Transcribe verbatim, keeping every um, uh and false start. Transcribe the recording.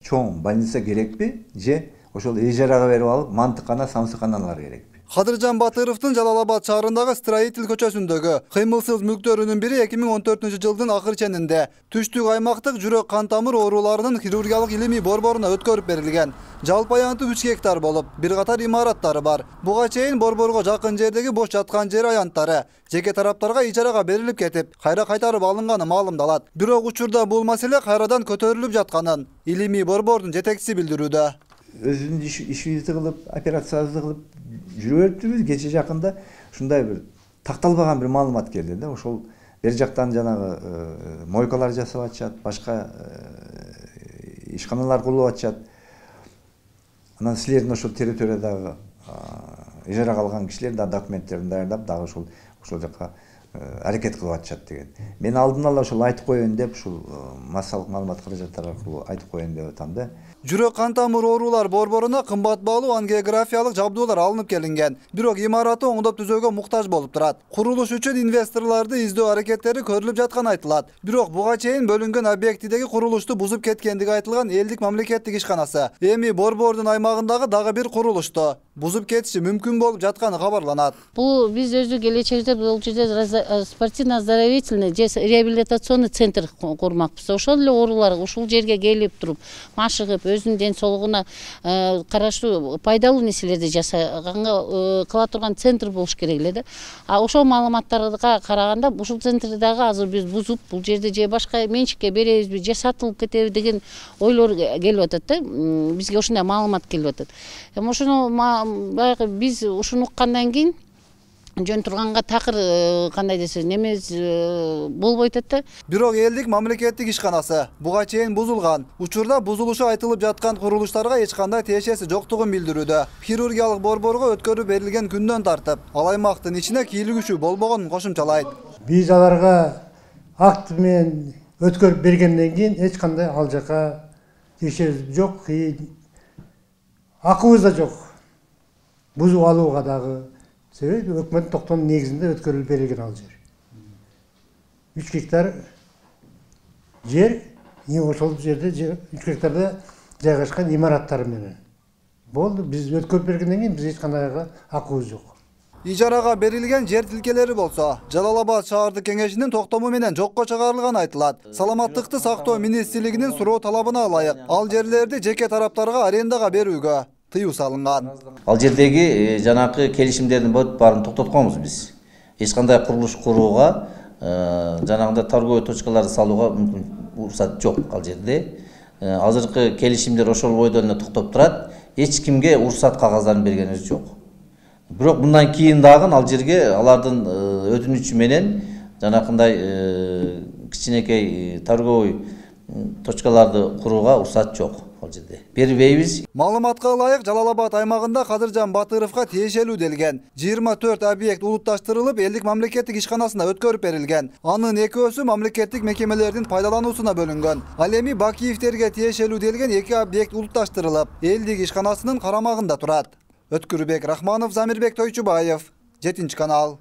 Чоң больница керекпи же ошол ижарага берип алып мантыккана, самсыкканалар керекпи? Кадыржан Батыровдун Жалал-Абад шаарындагы Строитель көчөсүндөгү кыймылсыз мүлктөрүнүн бири эки миң он төртүнчү жылдын акыр ченинде түштүк аймактык жүрөк кан тамыр ооруларынын хирургиялык илимий борборуна өткөрүп берилген. Жалпы аянты үч гектар болуп, бир катар имараттары бар. Буга чейин борборго жакын жердеги бош жаткан жер аянттары жеке тараптарга ижарага берилип кетип, кайра кайтарып алынганы маалымдалат. Бирок учурда бул маселе кайрадан көтөрүлүп жатканын илимий борбордун жетекчиси билдирүүдө. Өзүнүн ишибизди кылып, операциябызды кылып жүрүп өттүбүз. Кече жакында ушундай бир такталбаган бир маалымат келди да. Ошол бер жактан жанагы мойкалар жасап атышат, башка ишканалар курулуп атышат. Анан силердин ошол территориядагы ижарага алган кишилер да документтерин даярдап, дагы ошол ошол жакка аракет кылып атышат деген. Мен алдын ала ошол айтып коеюн деп, ушул массалык маалымат каражаттары аркылуу айтып коеюн деп атам да. Жүрөк кан тамыр оорулар борборуна кымбат баалуу ангиографиялык жабдуулар алынып келинген. Бирок имараты оңдоп түзөөгө муктаж болуп турат. Курулуш үчүн инвесторлорду издөө аракеттери көрүлүп жатканы айтылат. Бирок буга чейин бөлүнгөн объектидеги курулушту бузуп кеткендиги айтылган элдик мамлекеттик ишканасы эми борбордун аймагындагы дагы бир курулушту бузуп кетиши мүмкүн болуп жатканы кабарланат. Бул биз өзү келечекте бул жерде спортивно-оздоровительный же реабилитационный центр курмакпыз. Ошол эле оорулар ушул жерге келип туруп, машыгып, өзүнүн ден соолугуна караштуу пайдалуу нерселерди жасаганга кыла турган центр болуш керек эле да. А ошол маалыматтарга караганда ушул центрди дагы азыр биз бузуп, бул жерде же башка менчикке беребизби, же сатылып кетеби деген ойлор келип атат да. Бизге ушундай маалымат келип атат. Эми ошону баягы биз ушуну уккандан кийин жөн турганга такыр кандай десе немез болбой атат да. Бирок элдик мамлекеттик ишканасы буга чейин бузулган. Учурда бузулушу айтылып жаткан курулуштарга эч кандай тиешеси жоктугун билдирүүдө. Хирургиялык борборго өткөрүп берилген күндөн тартып, ал аймактын ичине кийлигүүчү болбогонун кошумчалайт. Биз аларга акт менен өткөрүп бергенден кийин эч кандай ал жака тиешебиз жок, акыбыз да жок. Бузуп алууга дагы себеби өкмөт токтомунун негизинде өткөрүлүп берилген ал жер. үч гектар жер, ошол жерде үч гектарда жайгашкан имараттар менен. Болду, биз өткөрүп бергенден кийин биз эч кандай акыбыз жок. Ижарага берилген жер тилкелери болсо Жалал-Абад шаардык кеңешинин токтому менен жокко чыгарылганы айтылат. Саламаттыкты сактоо министрлигинин суроо талабына ылайык ал жерлерди жеке тараптарга арендага берүүгө тыюу салынган. Ал жердеги жанакы келишимдердин баарын токтотконбуз биз. Эч кандай курулуш курууга, жанагындай торговый точкаларды салууга мүмкүн уруксат жок ал жерде. Азыркы келишимдер ошол бойдон эле токтоп турат. Эч кимге уруксат кагаздарын бергенибиз жок. Бирок мындан кийин дагы ал жерге алардын өтүнүчү менен жанакындай кичинекей торговый точкаларды курууга уруксат жок. Бербейбиз. Маалыматка ылайык Жалал-Абад аймагында Кадыржан Батыровго тиешелүү делген жыйырма төрт объект улутташтырылып, элдик мамлекеттик ишканасына өткөрүп берилген. Анын экөөсү мамлекеттик мекемелердин пайдалануусуна бөлүнгөн. Ал эми Бакиевтерге тиешелүү делген эки объект улутташтырылып, элдик ишканасынын карамагында турат. Өткүрбек Рахманов, Замирбек Тойчубаев, жетинчи канал.